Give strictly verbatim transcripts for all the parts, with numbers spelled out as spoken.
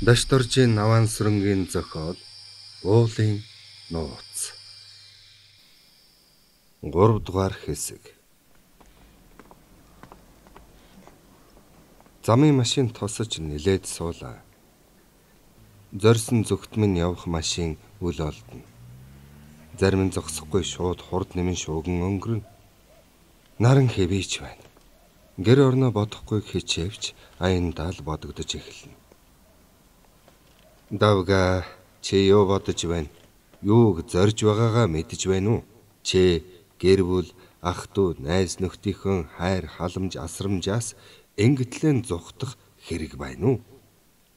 Дашторжийн Наваан сүрэнгийн зохиол уулын нууц гурав дугаар хэсэг. Замын машин тосож нилээд суулаа. Зорьсон зүгтмэн явах машин үл олдно. Зарим нь зогсохгүй шууд хурд нэмэн шууган өнгөрнө. Наран хэвийч байна. Гэр орноо бодохгүй хичээвч аяндаа л бодогдож эхэлнэ. Давга чи юу бодож байна? Юуг зорж байгаагаа мэдэж байна уу? Чи гэр бүл, ах дүү, найз нөхдийнхөө хайр халамж асрамжаас ингэтлэн зүхтах хэрэг байна уу?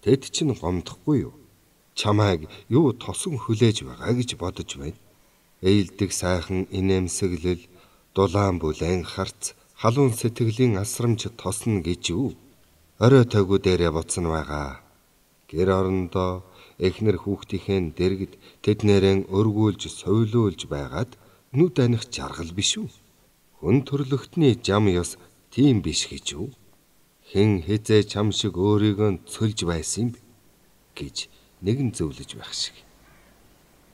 Тэд чинь гомдохгүй юу? Чамайг юу тосон хүлээж байгаа гэж бодож байна. Эйлдэг сайхан инээмсэглэл, дулаан бүлээн харц, халуун сэтгэлийн асрамж тосно гэж юу? Орой тойгоо дээрээ буцна байгаа. Гэр орондоо эхнэр хүүхдийнхээ дэргэд тэднэрэн өргүүлж сойлуулж байгаад нүд аних жаргал биш үү? Хүн төрлөختний жам ёс тийм биш гэж үү? Хэн хэзээ чам шиг өөрийгөө цөлж байсан бэ гэж нэгэн зөвлөж байх шиг.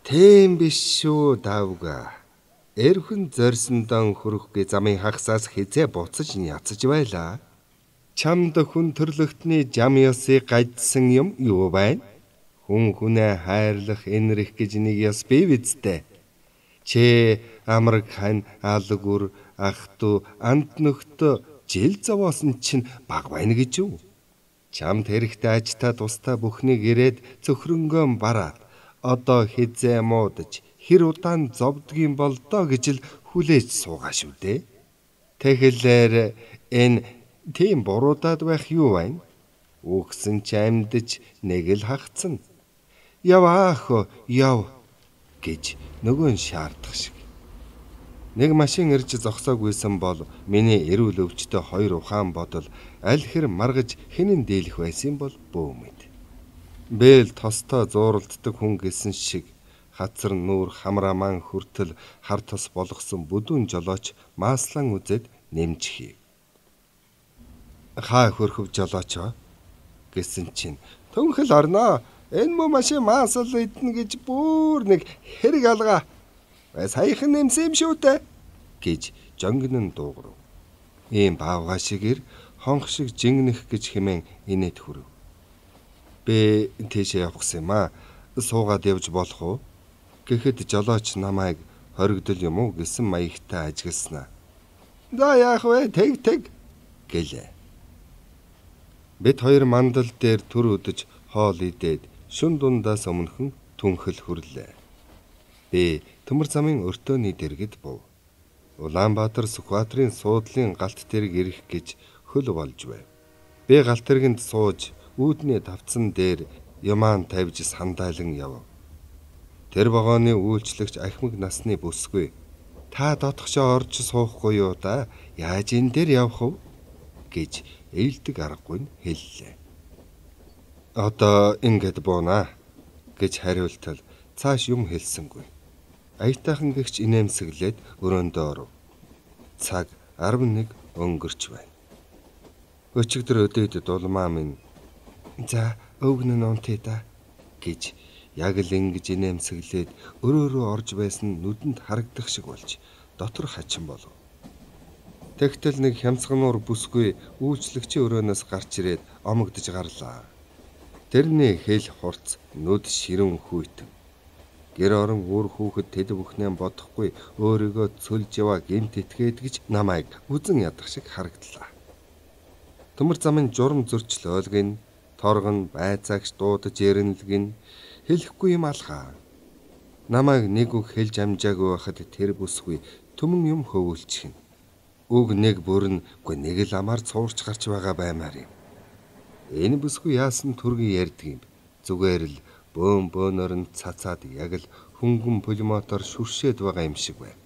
Тийм биш шүү давга. Эрхэн зорьсондоо хөрөхгүй замын хагасаас хизээ буцаж няцаж байлаа. Чамд хүн төрлөختний жам ёсыг гайдсан юм юу байна? Хүн хүнээ хайрлах энэрх гэж нэг ёс бий биз дээ. Чи амраг хань алгүр ах дүү амт нөхтө жил зовоосон чинь баг байна гэж юу? Чамд хэрэгтэй ажтаа тустай бүхнийг ирээд цөхрөнгөө бараад одоо хизээ муудаж хэр удаан зовдгийн бол доо гэж л хүлээж суугаа шүү дээ. Тэгэхээр энэ тийм буруудаад байх юу байна? Үгсэн ч амьдж нэг л хагцна. Яв аах яв гэж нөгөө нь шаардах шиг. Нэг машин ирж зогсоогүйсэн бол миний эрүүл өвчтөй хоёр ухаан бодол аль хэр маргаж хинэн дийлэх байсан бол бөө мэд. Бэл тостой зууралддаг хүн гэсэн шиг хацар нүүр хамраа маань хүртэл хар тос болгосон бүдүүн жолооч maaслан үзээд нэмж хий. Хаа хөрхөв жолоочоо гэсэн чинь төнхөл орноо. Энэ мө машин маасал идэнэ гэж бүр нэг хэрэг алгаа. Саяхан нэмсэн юм шүү дээ гэж жонгинон дуугарав. Ийм баавга шигээр хонх шиг жингнэх гэж хэмээн инээд хүрв. Би тийшээ явах юм аа. Суугаад явж болох уу? Гэхэд жолооч намайг хоригдол юм уу гэсэн маягтай ажигласнаа. За яах вэ? Тэг тэг гэлээ. Бид хоёр мандал дээр түр өдөж хоол идээд шүн дундаас өмнөхөн түнхэл хүрлээ. Би төмөр замын өртөөний дэргэд був. Улаанбаатар Сүхбаатарын суудлын галт тэрэг ирэх гэж хөл болж байв. Би галт тэрэгэнд сууж үүдний тавцан дээр юмаан тавьж сандайлан яв. Тэр вагоны үйлчлэгч ахмаг насны бүсгүй. Та дотгошоо орж суухгүй юу да? Яаж энэ дээр явах вэ? гэж эйлдэг аргагүй нь хэллээ. Одоо ингээд буунаа гэж хариултал цааш юм хэлсэнгүй. Аятайхан гэгч инээмсэглээд өрөөндөө оров. Цаг арав нэг өнгөрч байна. Өчигдөр өдөөд дулмаа минь за өвгөн нь унтъя да гэж яг л ингэж инээмсэглээд өрөөрөө орж байсан нүдэнд харагдах шиг болж дотор хачин болов. Тэгтэл нэг хямцгануур бүсгүй үйлчлэгчийн өрөөнөөс гарч ирээд омогдож гарлаа. Тэрний хэл хурц нүд ширэн хүйтэн. Гэр орон үр хүүхэд тэд бүхнээ бодохгүй өөрийгөө цөлж яваа гэмт итгээд гэж намайг үзэн ядах шиг харагдлаа. Төмөр замын журам зөрчлөөлгэн, торгон байцаагч дуудаж яринлгэн хэлэхгүй юм алхаа. Намайг нэг үг хэлж амжаагүй байхад тэр бүсгүй төмөн юм хөвүүлчихнэ. Үг нэг бүрэн гүй нэг л амаар цуурч гарч байгаа баймаар юм. Энэ бүсгүй яасан түргэн ярьдаг юм. Зүгээр л бөөн бөөнөр нь цацаад яг л хөнгөн пулемотор шүршээд байгаа юм шиг байв.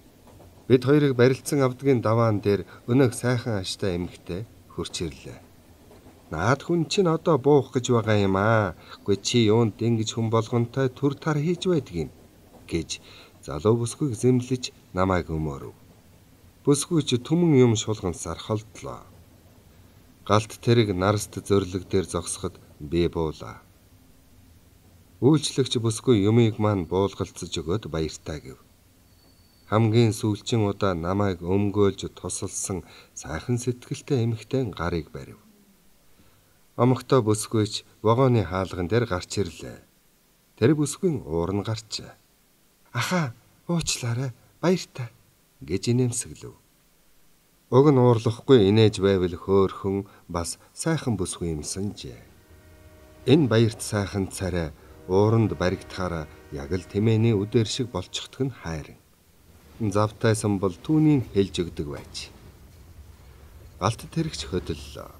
Бид хоёрыг барилцсан авдгийн даваан дээр өнөөх сайхан аштай эмэгтэй хурч ирлээ. Наад хүн чинь одоо буух гэж байгаа юм аа. Гүй чи юунд ингэж хүн болгонтой төр тар хийж байдаг юм гэж залуу бүсгүйг зэмлэж намайг өмөрөв. Бүсгүй чи түмэн юм шулгансаар холдлоо. Галт тэрэг нарст зөрлөг дээр зогсоход би буулаа. Үйлчлэгч бүсгүй юмыг маань буулгалцаж өгөөд баяртай гэв. Хамгийн сүүлчийн удаа намайг өмгөөлж тусалсан сайхан сэтгэлтэй эмэгтэй гарыг барив. Омогтой бүсгүйч вагоны хаалган дээр гарч ирлээ. Тэр бүсгүйн уур нь гарчээ. "Ахаа, уучлаарай, баяртай" гэж инээмсэглэв. Уг нь уурлахгүй инээж байвал хөөхөн бас сайхан бүсгүй юмсанжээ. Энэ баярт сайхан царай ууранд баригдахаараа яг л тэмээний үдээр шиг болчихдг нь хайрын. Завтайсан бол түүнийг хэлж өгдөг байж. Галт тэрэгч хөдөллөө.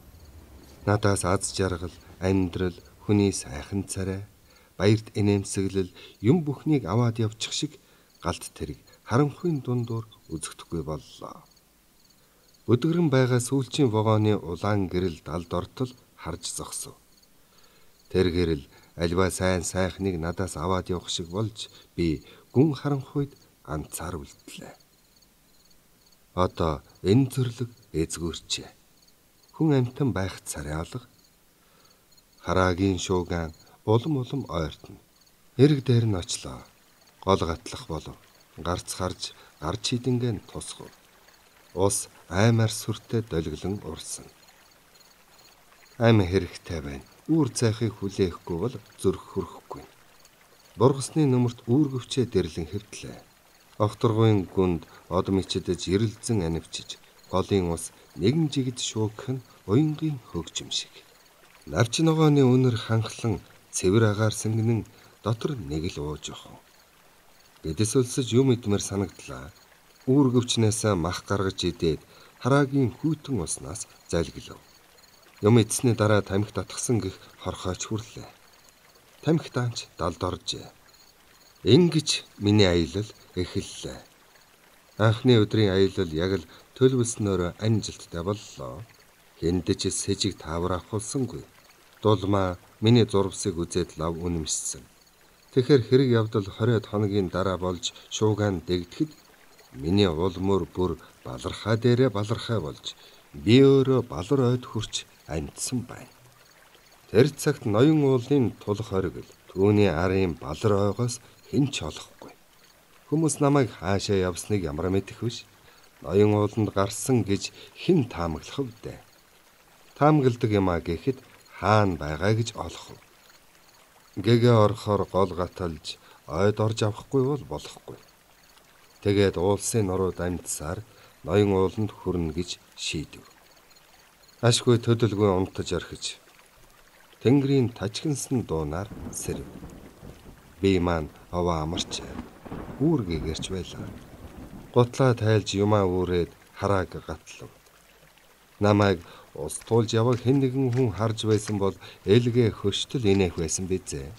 Надаас аз жаргал, амьдрал, хүний сайхан царай, баярт инээмсэглэл юм бүхнийг аваад явчих шиг галт тэрэг харанхуйн дундуур үзэгдэхгүй боллоо. Өдгөрөн байгаа сүүлчийн вагоны улаан гэрэл далд ортол харж зогсов. Тэр гэрэл альва сайн сайхныг надаас аваад явах шиг болж би гүн харанхуйд ганцаар үлдлээ. Одоо энэ зөвлөг эзгүүрчээ. Хүн амтан байх царай алга. Хараагийн шууган улам улам ойртно. Эрэг дээр нь очлоо. Гол гатлах болов. Гарц харж гарч хідэнгэн тусгав. Ус аймаар сүртэй долгилон урсан. Ам хэрэгтэй байна. Үүр цайхыг хүлээхгүй бол зүрх хүрэхгүй. Бургасны нөмөрт үүргэвчээ дэрлэн хэвтлээ. Огторгуйн гүнд од мичидэж ирэлзэн анивчиж, голын ус нэгэн жигд шуугх нь уянгийн хөгжим шиг. Навч ногооны үнэр ханхлан цэвэр агаар сэнгэнэн дотор нэг л ууж охов. Гэдэс өлсөж юм идмэр санагдлаа. Үүргэвчнээс мах гаргаж идээд хараагийн хүйтэн уснаас залгилав. Юм идсний дараа тамхи татгсан гих хорхойч хүрлээ. Тамхи таанч далд оржээ. Ингэж миний аялал эхэллээ. Анхны өдрийн аялал яг л төлөвлснөөр амжилттай боллоо. Хэндэж сэжиг таавар авахулсангүй. Дулмаа миний зурвсыг үзээд лав үнэмшсэн. Тэгэхэр хэрэг явдал хориод хоногийн дараа болж шуугаан дэгдэхэд миний улмөр бүр балархаа дээрээ балархаа болж би өөрөө балар ойд хүрч амьдсан байна. Тэр цагт ноён уулын тулах оргил түүний арын балар ойгоос хэн ч олохгүй. Хүмүүс намайг хаашаа явсныг ямар мэдэх вүш. Ноён ууланд гарсан гэж хэн таамаглах вэ? Таамагладаг юм а гэхэд хаана байгаа гэж олох вэ? Гэгээ орохоор гол гаталж ойд орж авахгүй бол болохгүй. Тэгээд уулсын нурууд амьдсаар ноён ууланд хүрнэ гэж шийдэв. Ашгүй төдөлгүй унтаж орхиж Тэнгэрийн тажигнсан дуунаар сэрэв. Би маань аваа амарч үүргэгэрч байлаа. Гутлаа тайлж юмаа үүрээд харааг гатлав. Намайг ус туулж яваг хэн нэгэн хүн харж байсан бол элгээ хөштөл инээх байсан бизээ.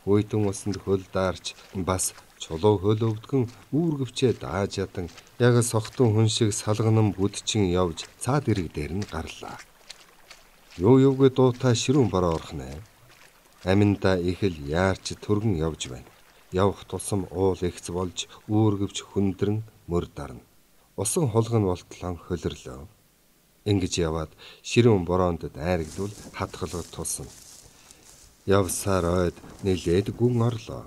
Хүйтэн усанд хөл даарч бас чулуу хөл өвдгөн үүргэвчээ дааж ядан яг сохтон хүн шиг салганан бүдчин явж цаад ирэг дээр нь гарлаа. Юу юугүй дуутай ширүүн бороо орхнэ. Аминда их л яарч төргөн явж байна. Явах тусам уул ихц болж үүргэвч хүндрэн мөр дарна. Усан хулган болтлон хөлөрлөө. Ингэж яваад ширүүн бороонд дайрагдвал хатгалгад тулсан. Явсаар ойд нилээд гүн орлоо.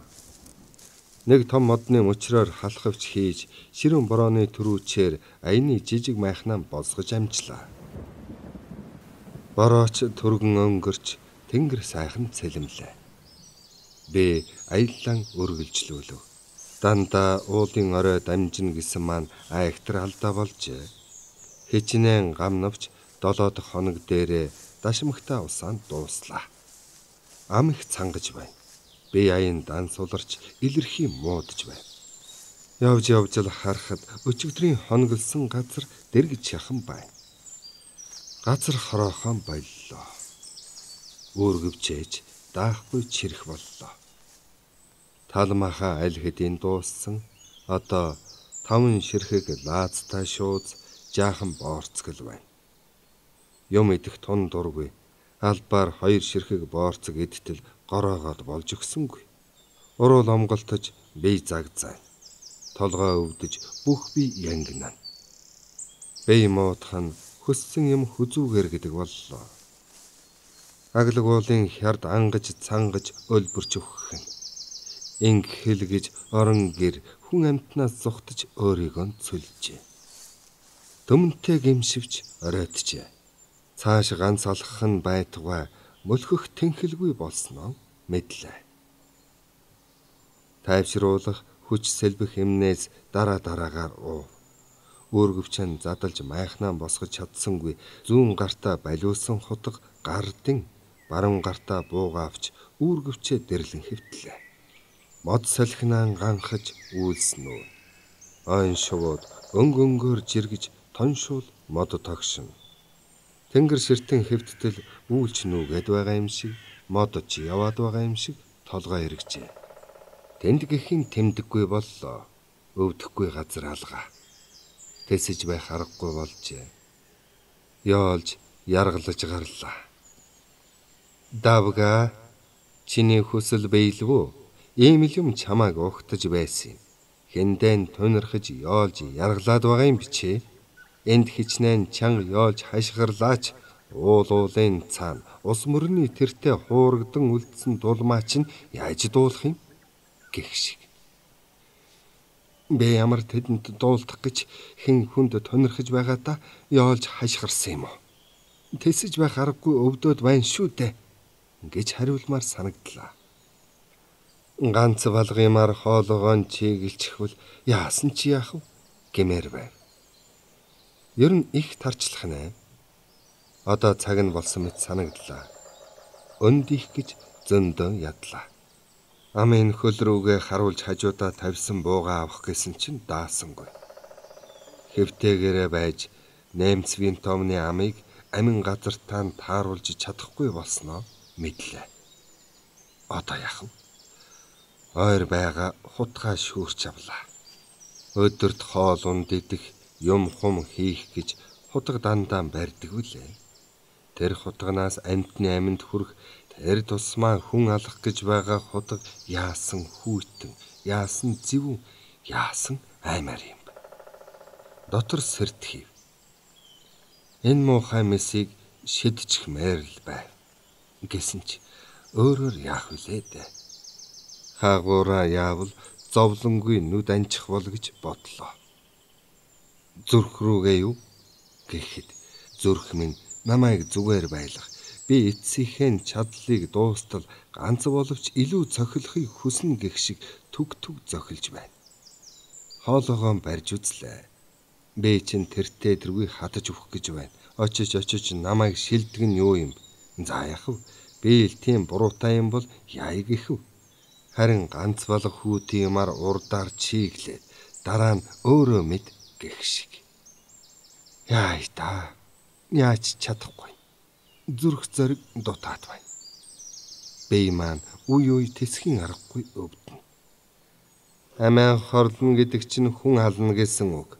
Нэг том модны мөчрөөр халахвч хийж ширүүн борооны төрүүчээр аяны жижиг майхнаа босгож амжлаа. Борооч төргөн өнгөрч тэнгэр сайхан цэлэмлээ. Би аяллан өргөлжлүүлв. Дандаа уулын орой дамжина гэсэн маань айхтар алдаа болжээ. Хичнээн гам навч долоо дахь хоног дээрээ дашмагтаа усаанд дууслаа. Ам их цангаж байна. Би аян дан суларч илэрхий муудж байна. Явж явж л харахад өчигдрийн хоноглсон газар дэргэж шахан байна. Газар хороохон боллоо. Үүргэвчээж даахгүй чирэх боллоо. Талмааха аль хэдийн дууссан. Одоо таван ширхэг лаазтай шууз жаахан боорцгол байна. Юм идэх тун дургүй. Албаар хоёр ширхэг боорцог идтэл гороогоод болж өгсөнгүй. Уруул омголтож бие загзаа. Толгой өвдөж бүх би янгинаа. Бие моотхан хөссөн юм хүзүүгэр гэдэг боллоо. Аглаг уулын хярд ангаж цангаж өлбөрч өгөх нь. Инг хэлгэж орон гэр хүн амтнаас зугтаж өөрийгөө цөлжээ. Төмөнтэй гимшивч оройтжээ. Цааш ганц алхах нь байтугай мөлхөх тэнхэлгүй болсноо мэдлээ. Тайвшруулах хүч сэлбэх эмнээс дараа дараагаар уув. Үүргэвчэн задалж майхнаа босгож чадсангүй зүүн гартаа балиусан хутга гардин баруун гартаа буугаавч үүргэвчээ дэрлэн хэвтлээ. Мод салхинаан ганхаж үйлснүү. Ойн шувууд өнг өнгөөр жиргэж тоншуул мод тогшин. Тэнгэр ширтэн хэвттэл үйлч нүгэд байгаа юм шиг мод ч яваад байгаа юм шиг толгой эргэжээ. Тэнд гэхин тэмдэггүй боллоо. Өвдөхгүй газар алгаа. Тэсэж байх аргагүй болжээ. Яолж яргалж гарлаа. Давга чиний хүсэл биелвүү? Ийм л юм чамааг угтаж байсан юм. Хэндэн тунирхаж яолж яргалаад байгаа юм бичээ. Энд хичнээн чанга яолж хашгирлаач уул уулын цаана ус мөрний тэртээ хуурагдан үлдсэн дулмаа чинь яаж дуулах юм гэх шиг. Бэ ямар тэдэнд дуулдах гэж хэн хүнд тунирхаж байгаа та яолж хашгирсан юм уу? Тэсэж байх аргагүй өвдөд байна шүү дээ гэж хариулмаар санагдлаа. Ганц балгымаар хоолоогоо чиглэлчихвэл яасан чи яах вэ гэмээр байв. Ер нь их тарчлах нэ. Одоо цаг нь болсон мэт санагдлаа. Өндих гэж зөндөө ядлаа. Амын хөл рүүгээ харуулж хажуудаа тавьсан буугаа авах гэсэн чинь даасангүй. Хэвтээгээрээ байж наймц винтомны амыг амин газартаа тааруулж чадахгүй болсноо мэдлээ. Одоо яах вэ? Ойр байгаа хутгаа шүүрч авлаа. Өдөрт хоол унд идэх юм хум хийх гэж хутга дандаа барьдаг үлээ. Тэр хутганаас амтны аминд хүрэх тэр тусмаа хүн алах гэж байгаа хутга яасан хүйтэн, яасан зэвүүн, яасан аймаар юм. Дотор сэрдэхив. Энэ муухай месийг шидчих мэрл байв. Гэсэн ч өөрөөр яах вүлээ дээ. Хаагуураа яавал зовлонгүй нүд анчих бол гэж бодлоо. Зүрх рүүгээ юу гэхэд зүрх минь намайг зүгээр байлгах, би эцсийнхэн чадлыг дуустал ганц боловч илүү цохилохыг хүснэ гэх шиг түг түг зохилж байна. Хоолоогоо барьж үзлээ. Би чинь тэртээ тэргүй хатаж өгөх гэж байна. Очиж очиж намайг шилдэг нь юу юм? За яах вэ? Би л тийм буруутай юм бол яа гэх вэ? Харин ганц болох хүүтийн юмар урдаар чиглээд дараа нь өөрөө мэд гэх шиг. Яа та яаж чадахгүй. Зүрх зэрэг дутаад байна. Бэй маань үе үе тэсхийн аргагүй өвдөн. Амиа хорлно гэдэг чинь хүн хална гэсэн үг.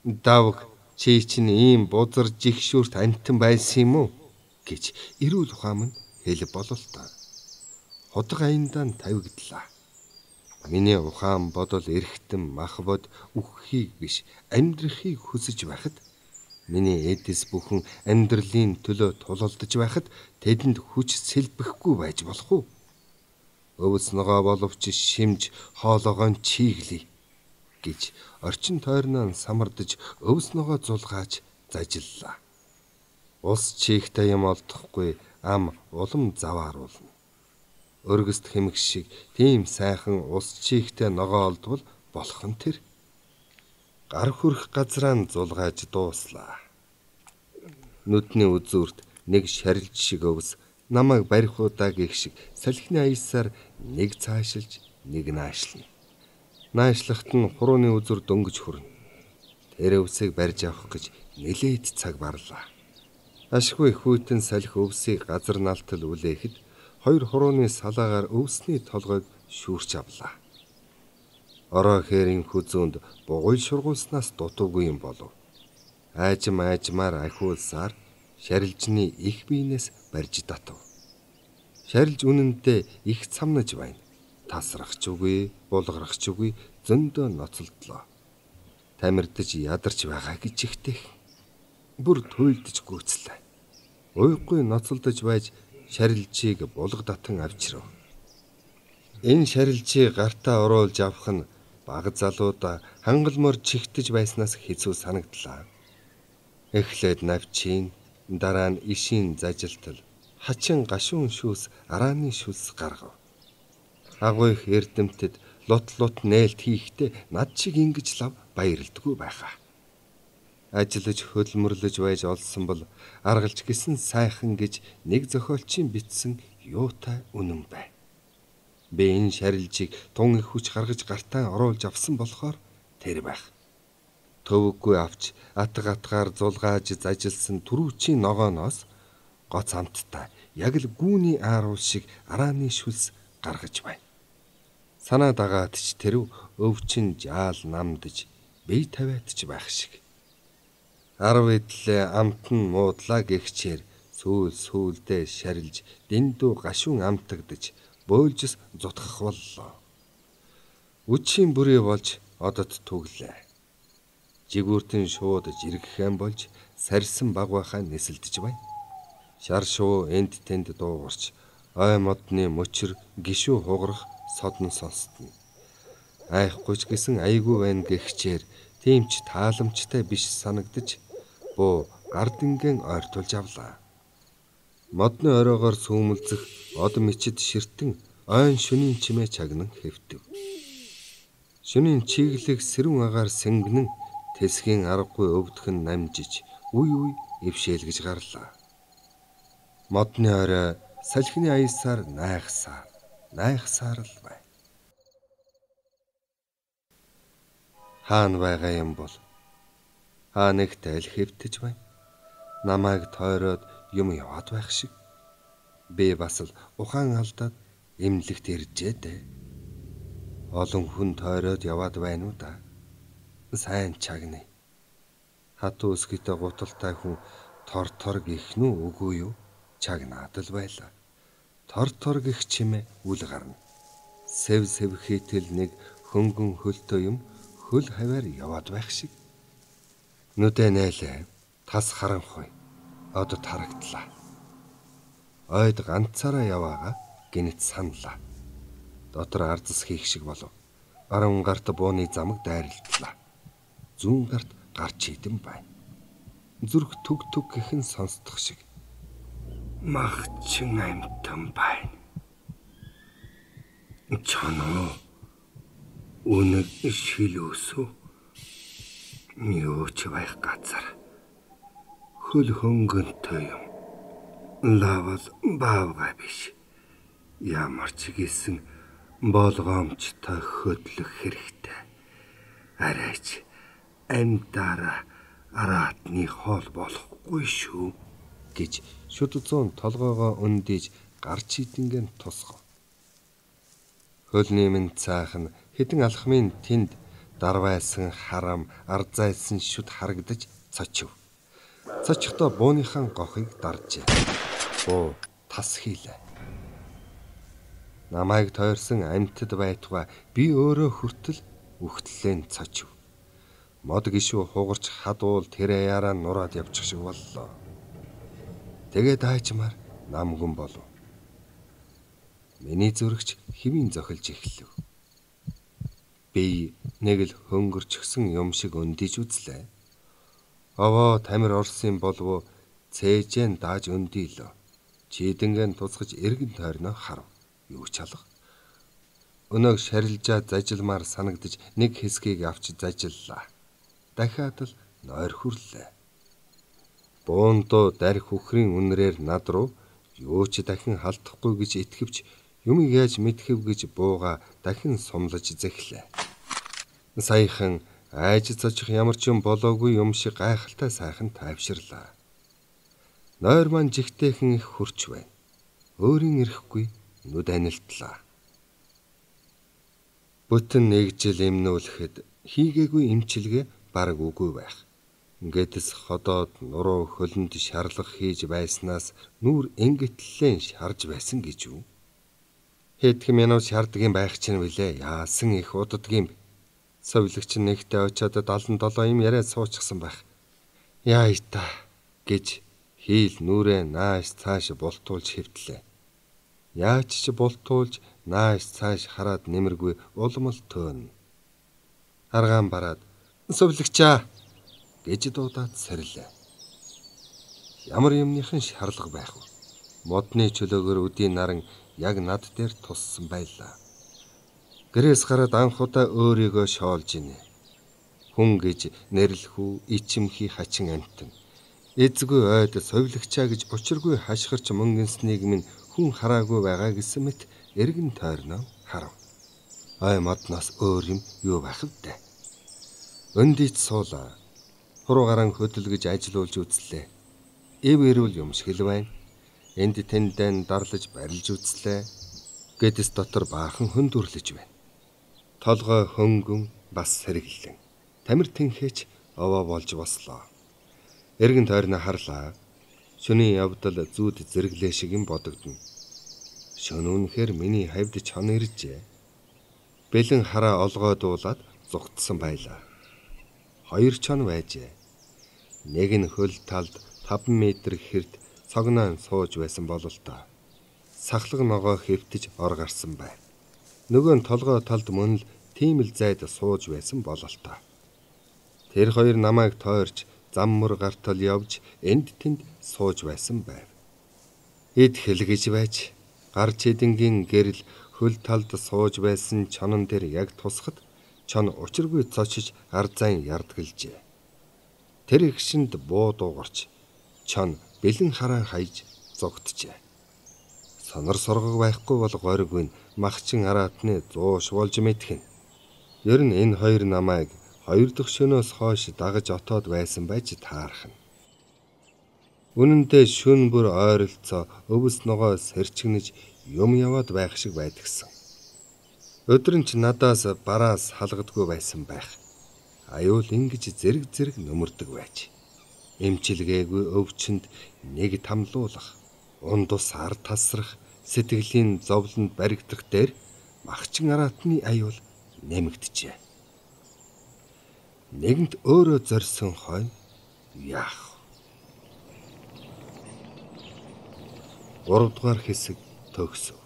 Давг чи чинь ийм бузар жигшүүрт амтан байсан юм уу гэж эрүүл ухаан нь хэл бололтой. Хотго аяндаа тавигдлаа. Миний ухаан бодол эрхтэн махбод үххийг биш амьдрахыг хүсэж байхад миний эдэс бүхэн амьдралын төлөө тулалдаж байхад тэдэнд хүч сэлбэхгүй байж болох уу? Өвс ногоо боловч шимж хоолоогоо чиглэе гэж орчин тойрноо самардаж өвс ногоо зулгааж зажиллаа. Ус чихтэй юм олдохгүй ам улам завааруулна. Өргөст хэмэг шиг тийм сайхан ус чихтэй ногоо олдвол болох нь тэр. Гар хүрэх газраа зулгааж дууслаа. Нүдний үзүүрт нэг шарилж шиг өвс намайг барихуудаа гэх шиг салхины аясаар нэг цаашилж нэг наашлна. Наашлахт нь хурууны үзүүр дөнгөж хүрнэ. Тэр өвсийг барьж авах гэж нэлээд цаг барлаа. Ашгүй хүйтэн салхи өвсийг газар налтал үлээхэд хоёр хурууны салаагаар өвсний толгойг шүүрч авлаа. Ороо хээрийн хүзүүнд бугуй шургуулснаас дутуугүй юм болов. Айжм айжмаар ахиулсаар шарилжны их биенээс барьж татав. Шарилж үнэндээ их цамнаж байна. Тасрах ч үгүй, булгарах ч үгүй зөндөө ноцолдлоо. Тамирдаж ядарч байгаа гэж ихтэй. Бүр туйлдж гүйцлээ. Уйхгүй ноцолдож байж шарилжийг булга татан авчирв. Энэ шарилжийг гартаа оруулж авах нь бага залуудаа хангалмор чихтэж байснаас хэцүү санагдлаа. Эхлээд навчин, дараа нь ишийн зажилтал, хачин гашуун шүүс арааны шүлс гаргав. Агуу их эрдэмтэд лут лут нээлт хийхдээ над шиг ингэж лав баярлдаггүй байхаа. Ажиллаж хөдөлмөрлөж байж олсон бол аргалж гисэн сайхан гэж нэг зохиолчийн бичсэн юутай үнэн бай. Би энэ шарилжийг тун их хүч гаргаж гартаа оруулж авсан болохоор тэр байх. Төвөггүй авч атга атгаар зулгааж зажилсан түрүүчийн ногооноос гоц амттай яг л гүүний ааруул шиг арааны шүлс гаргаж байна. Санаа дагаад ч тэрв өвчин жаал намдж бие тавиад ч байх шиг. Арав эдлээ амт нь муудлаа гихчээр сүүл сүүлдээ шарилж дэндүү гашуун амтагдж бөөлжс зутгах боллоо. Үчийн бүрий болж одод түглээ. Жигүүртэн шууд жиргэхэн болж сарсан багвахаа нисэлдэж байна. Шар шуу энд тэнд дуугарч ой модны мөчр гişүү хугарах содон сонстно. Айхгүй ч гэсэн айгүй байна гихчээр тийм ч тааламжтай биш санагдаж буу гардингийн ойртуулж авлаа. Модны оройгоор сүүмэлзэх од мичид ширтэн ойн шөнийн чимээ чагнан хэвтэв. Шөнийн чиглэг сэрүүн агаар сэнгэнэн тэсгийн аргагүй өвдгөн намжиж үе үе ившээлгэж гарлаа. Модны орой салхины аясаар найхсаар найхсаар л бай. Хаан байгаа юм бол хаа нэгтэй л хэвтэж байна. Намайг тойроод юм яваад байх шиг. Би бас л ухаан алдаад эмнэлэгт иржээ дээ. Олон хүн тойроод яваад байна уу да. Сайн чагны. Хатуу өсгийтэй гуталтай хүн тор тор гих нү үгүй юу? Чагнаад л байлаа. Тор тор гих чимээ үл гарна. Сэв сэв хийтэл нэг хөнгөн хөлтөө юм хөл хаваар яваад байх шиг. Нүдэ нээлээ. Тас харанхуй. Одод харагдлаа. Ойд ганцаараа яваага гинэт саналаа. Дотор ардс хийх шиг болов. Аран гарт бууны замаг дайралдлаа. Зүүн гарт гарч идэн байна. Зүрх түг түг гэхэн сонсдох шиг. Магчин амтан байна. Чоноо үнэг шил өсөө. Юу ч байх газар. Хөл хөнгөнтэй юм. Лавал баавгай биш. Ямар ч гэсэн болгоомжтой хөдлөх хэрэгтэй. Арайч амьдаараа араатны хоол болохгүй шүү гэж шүд зүүн толгоогоо өндийж гарч идэнгийн тусгав. Хөлний минь цаахан хэдэн алхмын тэнд дарвайсан харам ардзайсан шүд харагдаж цочив. Цочихдоо бууныхаа гохыг даржээ. Буу тас хийлээ. Намайг тойрсон амьтад байтугай би өөрөө хүртэл үхтлэн цочив. Мод гişүү хугарч хадуул тэр аяараа нураад явчих шиг боллоо. Тэгээд аажмаар намгүн болов. Миний зүрхч хэвийн зохилж эхлэв. Би нэг л хөнгөрчгсөн юм шиг өндийж үзлээ. Овоо тамир орсон болов цээжэн дааж өндийлөө. Чийдэнгийн тусгаж эргэн тойрноо харав. Юу ч алга. Өнөөг шарилжаа зажилмаар санагдаж нэг хэсгийг авч зажиллаа. Дахиад л нойр хүрлээ. Буундуу дарих үхрийн үнрээр над руу юу ч дахин халдахгүй гэж итгэвч юм яаж мэдхэв гэж бууга дахин сумлаж зэхлээ. Саяхан айж цочих ямар ч юм болоогүй юм шиг гайхалтай сайхан тайвширлаа. Нойр маань жигтэйхэн их хурч байна. Өөрийн ирэхгүй нүд анилтлаа. Бүтэн нэг жил эмнүүлэхэд хийгээгүй эмчилгээ бараг үгүй байх. Гэтэс ходоод нуруу хөлөнд шарлах хийж байснаас нүур энгэтлэн шарж байсан гэж үү? Хэдхэн минут шаарддаг юм байх чинь билээ. Яасан их уддаг юм. Совилагч нэгтэй очиод даалан долоо юм яриад суучихсан байх. Яа итаа гэж хийл нүрээ нааш цааш бултуулж хэвтлээ. Яаж ч бултуулж нааш цааш хараад нэмэргүй улмал төөнө. Аргаан бараад "Сувлагчаа" гэж дуудаад сэрэлээ. Ямар юмныхан шаарлага байх вэ? Модны чөлөөгөр үдийн наран яг над дээр туссан байлаа. Гэрээс гараад анх удаа өөрийгөө шоолж ийнэ. Хүн гэж нэрлэхүү ичимхий хачин амтан. Эзгүй ойд сувлагчаа гэж учиргүй хашгирч мөнгөнснийг минь хүн хараагүй байгаа гэсэн мэт эргэн тойрноо харав. Ой модноос өөр юм юу байх вэ? Өндийч суулаа. Хуруугаран хөдөлгөж ажилуулж үзлээ. Эв эрүүл юм шиг л байна. Энд тэндэн дарлаж барилж үзлээ. Гэдэс дотор баахан хөндөрлөж байна. Толгой хөнгөн бас сэргэлэн. Тамир тэнхээч овоо болж бослоо. Эргэн тойрноо харлаа. Шөнийн явдал зүүд зэрэглээ шиг юм бодогдно. Шөнө үнэхээр миний хавьд чон иржээ. Бэлэн хараа олгоо дуулаад зугтсан байлаа. Хоёр чон байжээ. Нэг нь хөл талд таван метр хэрт цогноон сууж байсан болол та. Сахлаг ногоо хэвтэж ор гарсан байв. Нөгөө нь толгой талд мөн л тийм л зайд сууж байсан болол та. Тэр хоёр намайг тойрч зам мөр гартал явж энд тэнд сууж байсан байв. Эд хэлгэж байж гар чэдэнгийн гэрэл хөл талд сууж байсан чонон дээр яг тусахад чон учиргүй цочиж ардзайн ярдгалжээ. Тэр ихшинд буу дуугарч чон бэлэн хараан хайж зогтжээ. Сонор соргог байхгүй бол гориг нь махчин араатны зууш болж мэдхэн. Ер нь энэ хоёр намайг хоёр дахь шөнөөс хойш дагаж отоод байсан байж таарах нь. Үнэндээ шөн бүр ойролцоо өвс ногоо сэрчгнэж юм яваад байх шиг байдгсан. Өдөр нь ч надаас бараас халгадгүй байсан байх. Аюул ингэж зэрэг зэрэг нөмөрдөг байж. Эмчилгээгүй өвчнөд нэг тамлуулах, ундус ар тасрах, сэтгэлийн зовлонд баригдах дээр махчин араатны аюул нэмэгдэжээ. Нэгэнт өөрөө зорьсон хойно яах? гурав дугаар хэсэг төгсөв.